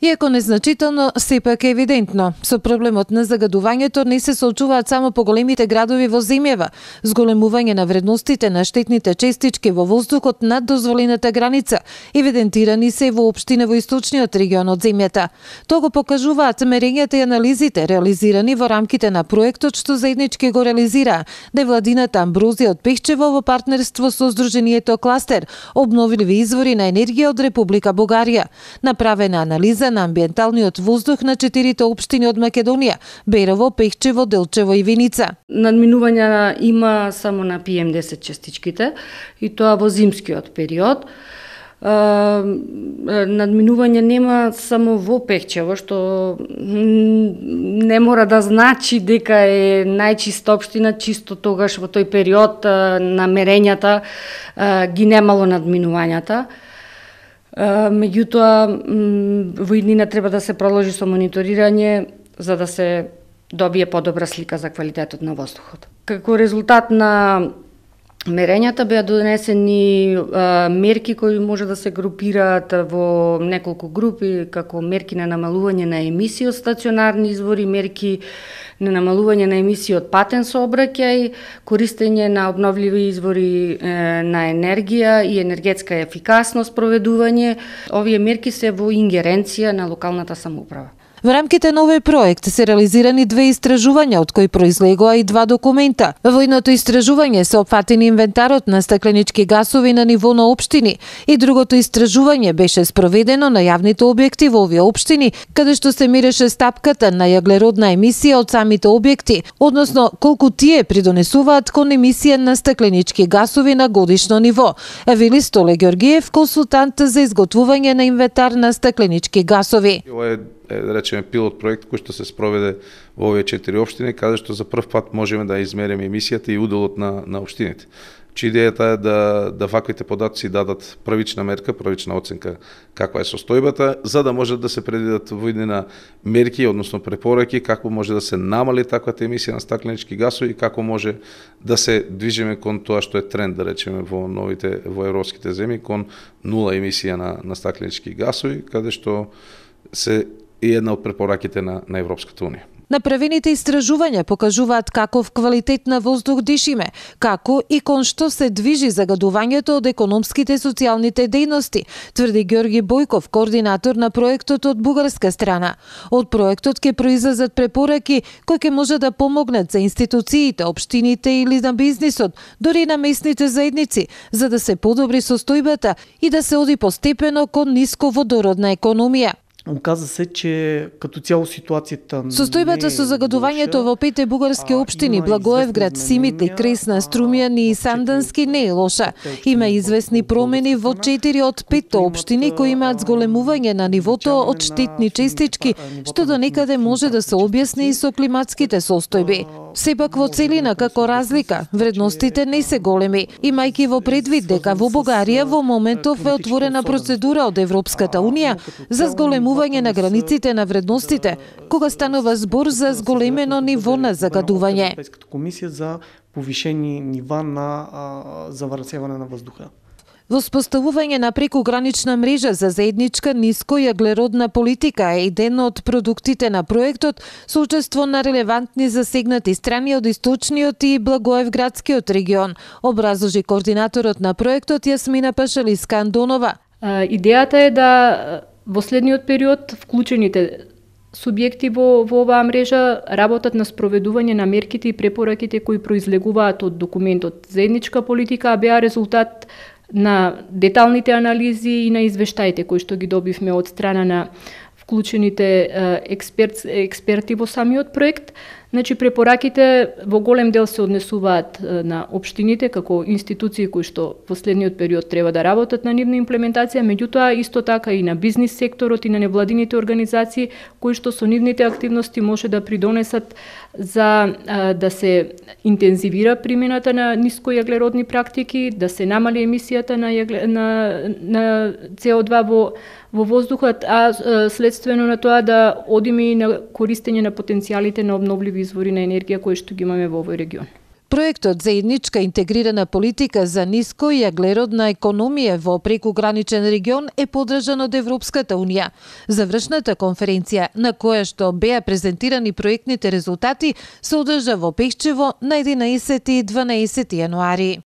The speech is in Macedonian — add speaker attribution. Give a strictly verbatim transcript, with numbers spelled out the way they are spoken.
Speaker 1: Иако незначително, сепак е евидентно. Со проблемот на загадувањето не се соочуваат само поголемите градови во земјава, зголемување на вредностите на штетните честички во воздухот над дозволената граница, евидентирани се во општина во источниот регион од земјата. Тоа го покажуваат мерењата и анализите реализирани во рамките на проектот што заеднички го реализира невладината Амброзија од Пехчево во партнерство со Сдруженијето Кластер, обновливи извори на енергија од Република Бугарија. Направена анализа на амбиенталниот воздух на четирите општини од Македонија: Берово, Пехчево, Делчево и Виница.
Speaker 2: Надминувања има само на пи ем десет частичките и тоа во зимскиот период. Надминување нема само во Пехчево, што не мора да значи дека е најчиста општина, чисто тогаш во тој период на мерењата ги немало надминувањата. Меѓутоа, во иднина треба да се продолжи со мониторирање за да се добие подобра слика за квалитетот на воздухот. Како резултат на мерењата беа донесени а, мерки кои може да се групираат во неколку групи, како мерки на намалување на емисии од стационарни извори, мерки на намалување на емисии од патен сообраќај, користење на обновливи извори е, на енергија и енергетска ефикасност, проведување. Овие мерки се во ингеренција на локалната самоуправа.
Speaker 1: Во рамките на овој проект се реализирани две истражувања, од кои произлегоа и два документа. Во едното истражување се опфатени инвентарот на стакленички гасови на ниво на општини и другото истражување беше спроведено на јавните објекти во овие општини, каде што се мереше стапката на јаглеродна емисија од самите објекти, односно колку тие придонесуваат кон емисија на стакленички гасови на годишно ниво. Вели Столе Ѓоргиев, консултант за изготвување на инвентар на стакленички гасови.
Speaker 3: Е, да речеме, пилот проект кој што се спроведе во овие четири општини, каде што за прв пат можеме да измериме емисијата и уделот на, на општините. Чи идејата е да, да ваквите податоци дадат првична мерка, првична оценка каква е состојбата, за да може да се предвидат во иднина мерки, односно препораки, како може да се намали таквата емисија на стакленички гасови и како може да се движиме кон тоа што е тренд, да речеме, во новите, во европските земји, кон нула емисија на, на стакленички гасови, каде што се и една од препораките на, на Европската унија.
Speaker 1: Направените истражувања покажуваат каков квалитет на воздух дишиме, како и кон што се движи загадувањето од економските и социјалните дејности, тврди Ѓорги Бојков, координатор на проектот од бугарска страна. Од проектот ќе произлезат препораки кои ќе може да помогнат за институциите, општините или на бизнисот, дори на местните заедници, за да се подобри состојбата и да се оди постепено кон нисководородна економија.
Speaker 4: Оказа се, че като цяло ситуацията...
Speaker 1: Состојбата со загадувањето во пете бугарски општини Благоевград, Симитли, Кресна, Струмјан и Сандански не е лоша. Има известни промени во четири од петте општини кои имаат зголемување на нивото од штетни честички, што до некаде може да се објасни и со климатските состојби. Сепак во целина како разлика, вредностите не се големи, имајќи во предвид дека во Бугарија во моментов е отворена процедура од Европската унија за зголемување на границите на вредностите, кога станува збор за зголемено ниво на загадување.
Speaker 4: Европската комисија за повишени нива на заварсевање на воздуха.
Speaker 1: Воспоставување на прекогранична мрежа за заедничка нискојаглеродна политика е еден од продуктите на проектот со учество на релевантни засегнати страни од источниот и Благоевградскиот регион, образложи координаторот на проектот Јасмина Пашалиска-Андонова.
Speaker 5: Идејата е да во следниот период вклучените субјекти во, во оваа мрежа работат на спроведување на мерките и препораките кои произлегуваат од документот Заедничка политика, а беа резултат на деталните анализи и на извештаите кои што ги добивме од страна на вклучените експерт, експерти во самиот проект. Значи, препораките во голем дел се однесуваат на општините како институции кои што во следниот период треба да работат на нивна имплементација, меѓутоа исто така и на бизнис секторот и на невладините организации кои што со нивните активности може да придонесат за а, да се интензивира примената на нискојаглеродни практики, да се намали емисијата на, јагле, на, на С О два во во воздухот, а следствено на тоа да одиме и на користење на потенцијалите на обновливи извори на енергија кои што ги имаме во овој регион.
Speaker 1: Проектот заедничка интегрирана политика за ниско и аглеродна економија во прекуграничен регион е поддржан од Европската унија. Завршната конференција, на која што беа презентирани проектните резултати, се одржа во Пехчево на единаесети и дванаесети јануари.